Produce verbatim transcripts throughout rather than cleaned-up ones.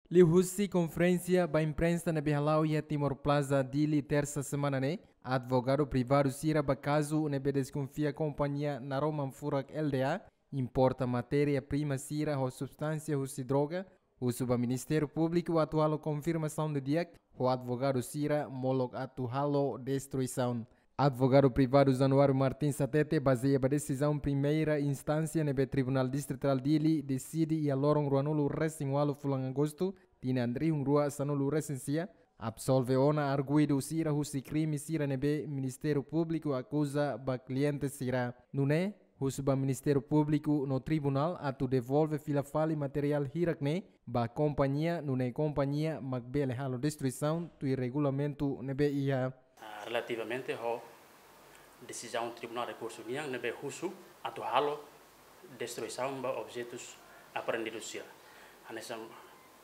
Liuhusi konferénsia ba imprensa ne'ebé hala'o iha Timor Plaza, Dili, tersa semana ne'e, advogadu privadu sira ba kazu ne'ebé deskonfia kompañia Naroman Furak L D A importa matéria-prima sira ho substánsia husi droga, husu ba Ministériu Públiku atu halo konfirmasaun didi'ak ho advogadu sira molok atu halo destruisaun. Advogadu privadu Januário Martins hatete, bazeia ba desizaun primeira instánsia ne'ebé Tribunál Distritál Dili deside iha loron ruanulu resin ualu fulan Agostu, tinan rihun rua sanulu resin sia, absolve ona arguidu sira husi krime sira ne'ebé Ministériu Públiku akuza ba kliente sira. Nune'e, husu ba Ministériu Públiku no tribunál atu devolve fila fali materiál hirak ne'e ba kompañia, nune'e kompañia mak bele halo destruisaun tuir regulamentu ne'ebé iha. Ah, relativamente ho desizaun Tribunál Rekursu nian ne'ebé husu atu halo destruisaun ba objetus apreendidu sira. Hanesan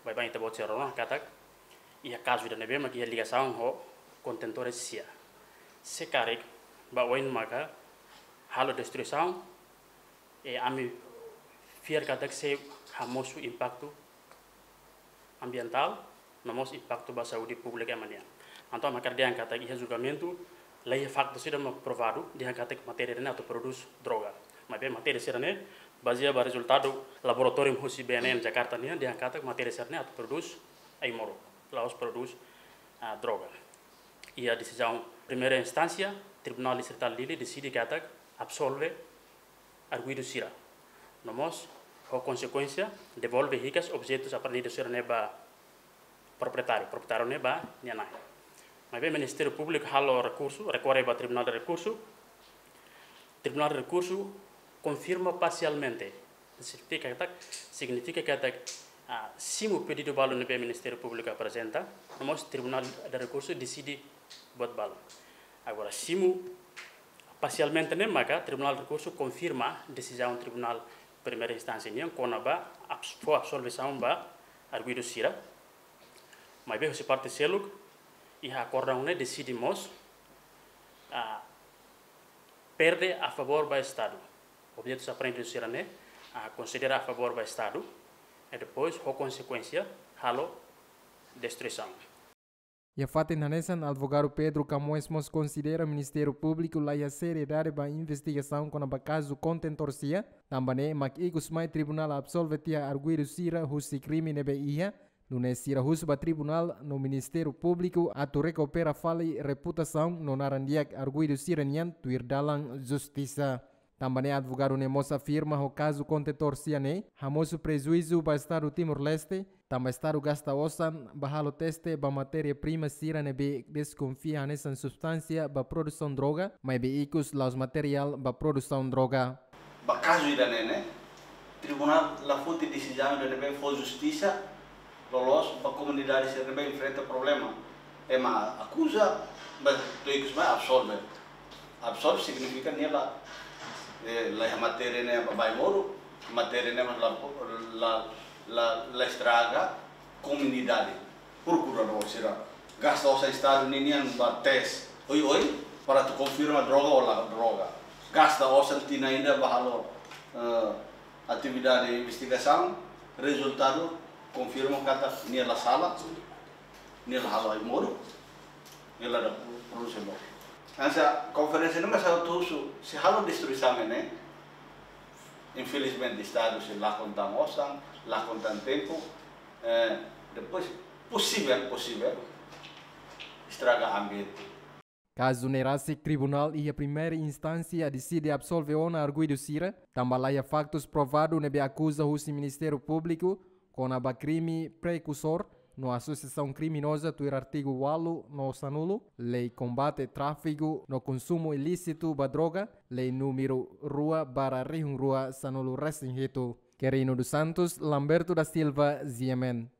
baibain ita-boot sira rona katak iha kazu ida ne'ebé mak iha ligasaun ho kontentór sia. Se karik ba oin maka halo destruisaun, e ami fiar katak sei hamosu impaktu ambientál, no mós impaktu ba saúde públika ema nian. Entaun ami hakarak dehan katak iha julgamentu, laiha faktu sira mak provadu dehan katak matéria ne'e atu prodús droga. Maibé matéria sira-ne'e bazeia ba rezultadu laboratóriu husi B N N Jakarta nian dehan katak matéria sira-ne'e atu prodús ai-moruk, la'ós prodús, ah, droga. Iha desizaun primeira instánsia, Tribunál Distritál Dili deside katak absolve arguidu sira. No mós, ho konsekuénsia, devolve hikas objetus apreendidu sira-ne'e ba proprietáriu, proprietáriu ne'e ba nia naran. Maibé Ministériu Públiku halo rekursu, rekorre ba Tribunál de Rekursu. Tribunál de Rekursu konfirma parsialmente. Signifika katak, signifika katak, ah, simu pedidu balu ne'ebé Ministériu Públiku aprezenta, no mós Tribunál de Rekursu deside buat balu. Agora, simu parsialmente ne'e maka Tribunál de Rekursu konfirma desizaun Tribunál Primeira Instánsia nian kona-ba abs-, fó absolvisaun ba arguidu sira. Maibé husi parte seluk, iha akordaun ne'e deside mós, ah, perde a favór ba Estadu. Objetus apreendidu sira-ne'e, ah, konsidera a favór ba Estadu, e depois, ho konsekuénsia, halo destruisaun. Iha fatin hanesan, advogadu Pedro Camões mós konsidera Ministériu Públiku laiha seriedade ba investigasaun kona-ba kazu kontentór sia, tanba ne'e mak ikus mai tribunál absolve tiha arguidu sira husi krime ne'ebé iha, nune'e sira husu ba tribunál no Ministériu Públiku atu rekupera fali reputasaun no naran di'ak arguidu sira-nian tuir dalan justisa. Tanba ne'e advogadu ne'e mós afirma ho kazu kontentór sia ne'e hamosu prejuízu ba Estadu Timor-Leste, tanba Estadu gasta osan ba halo teste ba matéria-prima sira ne'ebé deskonfia hanesan substánsia ba produsaun droga, maibé ikus la'ós materiál ba produsaun droga. Ba kazu ida-ne'e ne'e, tribunál la foti desizaun ida ne'ebé fó justisa, loloos ba komunidade sira ne'ebé enfrenta problema. Ema akuza, ba to'o ikus mai absolve. Absolve signifika nia la, eh, laiha matéria ne'e ba ai-moruk, matéria ne'e la, la, la, la estraga komunidade. Prokuradór sira gasta osan Estadu ninian ba teste oioin para atu konfirma droga ou la droga. Gasta osan tinan ida ba halo, eh, atividade investigasaun, rezultadu konfirma katak nia la sala, nia la halo ai-moruk, nia la produz ai-moruk. Hanesan konferénsia ne'e mós ha'u husu, se halo destruisaun ne'e, infelizmente Estadu sei lakon tan osan, lakon tan tempu, eh, depois posivel, posivel estraga ambiente. Kazu ne'e rasik tribunál iha primeira instánsia deside absolve ona arguidu sira, tanba laiha faktus provadu ne'ebé akuza husi Ministériu Públiku kona-ba krime prekursór no asosiasaun kriminoza tuir artigu ualu no sanulu, Lei Kombate Tráfiku no Konsumu Ilísitu ba Droga, Lei númeru rua barra rihun rua sanulu resin hitu. Querino dos Santos, Lamberto da Silva, G M N.